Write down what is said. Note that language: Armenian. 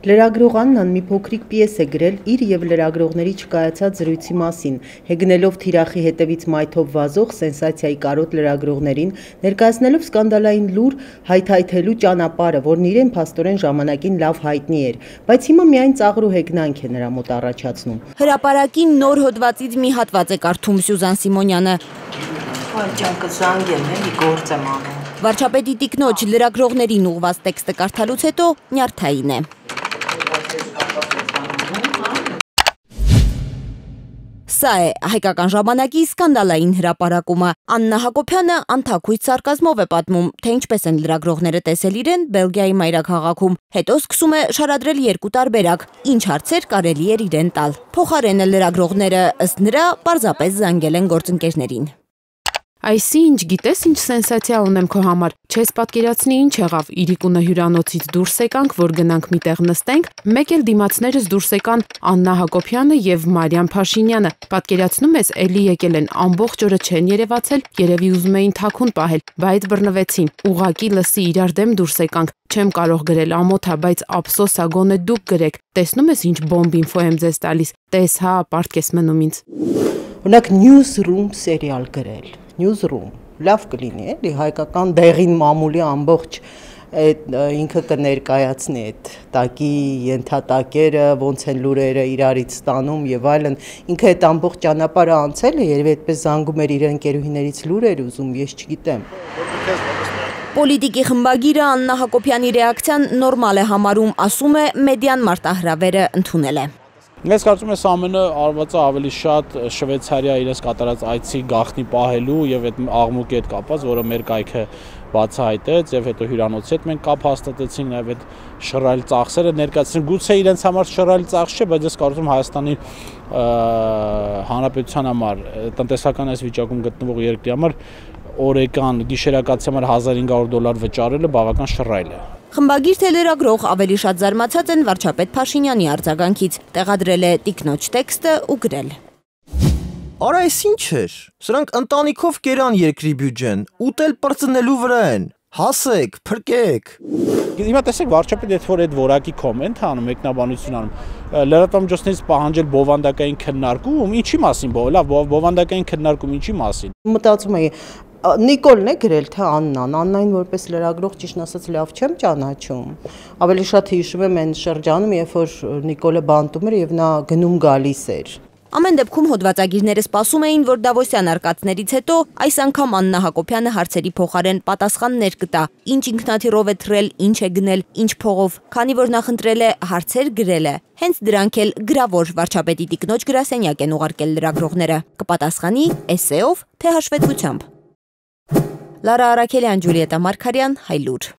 Լրագրող Աննան մի փոքրիկ պիես է գրել իր եւ լրագրողների չկայացած զրույցի մասին, հեգնելով թիրախի հետևից մայթով վազող սենսացիայի կարոտ լրագրողներին, ներկայացնելով սկանդալային լուր հայթայթելու ճանապարհը, որն իրեն փաստորեն ժամանակին լավ հայտնի էր, բայց հիմա միայն ծաղր ու հեգնանք է նրա մոտ առաջացնում։ Հրապարակին նոր հոդվածից մի հատված է կարդում Սյուզան Սիմոնյանը։ Ջանկը զանգել էլի գործ եմ անում։ Վարչապետի տիկնոջ լրագրողներին ուղված տեքստը կարդալուց հետո նյարդային է։ Սա է հայկական ժամանակի սկանդալային հրապարակումը։ Աննա Հակոբյանը անթաքույց սարկազմով է պատմում, թե ինչպես են լրագրողները տեսել իրեն Բելգիայի մայրաքաղաքում, հետո սկսում է շարադրել երկու տարբերակ, ինչ հարցեր կարելի էր իրեն տալ։ Փոխարենը լրագրողները ըստ նրա պարզապես զանգել են գործընկերներին։ Այսինչ, գիտես ինչ սենսացիա ունեմ քո համար, չես պատկերացնի ինչ եղավ, Իրիկունը հյուրանոցից դուրս եկանք, որ գնանք միտեղ նստենք, մեկ էլ դիմացներս դուրս եկան Աննա Հակոբյանը եւ Մարիամ Փաշինյանը, պատկերացնում ես, էլի եկել են, ամբողջ օրը չեն երևացել, երևի ուզում էին թաքուն պահել, բայց բռնվեցին, ուղակի լսի իրար դեմ դուրս եկանք, չեմ կարող գրել ամոթա, բայց ափսոս ա գոնե դուք գրեք, տեսնում ես ինչ բոմբ ինֆո եմ ձեզ տալիս, տես հա, պարտքես մնում ինձ։ Օրինակ Newsroom սերիալ գրել, Newsroom, լավ կլինի էլի, հայկական դեղին մամուլի ամբողջ ինքը կներկայացնի այդ տակի ենթատակերը, ոնց են լուրերը իրարից ստանում եւ այլն, ինքը այդ ամբողջ ճանապարհը անցել է, երևի այդպես զանգում էր իր ընկերուհիներից լուրեր ուզում, ես չգիտեմ։ Պոլիտիկի խմբագիրը Աննա Հակոբյանի ռեակցիան նորմալ է համարում, ասում է մեդիան մարտահրավերը ընդունել է։ Ես կարծում եմ ամենը արվածը ավելի շատ Շվեյցարիա իրենց կատարած այցի գաղտնի պահելու եւ այդ աղմուկի հետ կապված, որը մեր կայքը բացահայտեց եւ հետո հյուրանոցի հետ մենք կապ հաստատեցինք, նաեւ այդ շռայլ ծախսերը ներկայացրին, գուցե իրենց համար շռայլ ծախս չէ, բայց ես կարծում եմ Հայաստանի Հանրապետության համար, տնտեսական այս վիճակում գտնվող երկրի համար օրեկան գիշերակացի համար $1500 վճարելը բավական շռայլ է։ Խմբագիր թե լրագրող ավելի շատ զարմացած են վարչապետ Փաշինյանի արձագանքից, տեղադրել է տիկնոջ տեքստը ու գրել։ Արա այս ինչ էր, սրանք ընտանիքով կերան երկրի բյուջեն, ուտել պրծնելու վրա են, հասեք, փրկեք։ Հիմա տեսեք վարչապետը եթե որ այդ որակի կոմենտ անում, մեկնաբանություն անում, լրատվամիջոցներից պահանջել բովանդակային քննարկում, ինչի մասին լավ, բովանդակային քննարկում ինչի մասին։ Մտածում էի Նիկոլն է գրել թե Աննային որպես լրագրող ճիշտ ասած լավ չեմ ճանաչում։ Ավելի շատ հիշում եմ այն շրջանում, երբ որ Նիկոլը բանտում էր եւ նա գնում գալիս էր։ Ամեն դեպքում հոդվածագիրները սպասում էին, որ Դավոսյան արկածներից հետո այս անգամ Աննա Հակոբյանը հարցերի փոխարեն պատասխաններ կտա, ինչ ինքնաթիռով է թռել, ինչ է գնել, ինչ փողով, քանի որ նախընտրել է հարցեր գրել է։ Հենց դրանք էլ գրավոր վարչապետի տիկնոջ գրասենյակ են ուղարկել լրագրողները։ Կպատասխանի էսեով, թե հաշվետվությամբ։ Լարա Արաքելյան, Ջուլիետա Մարգարյան, Հայլուր։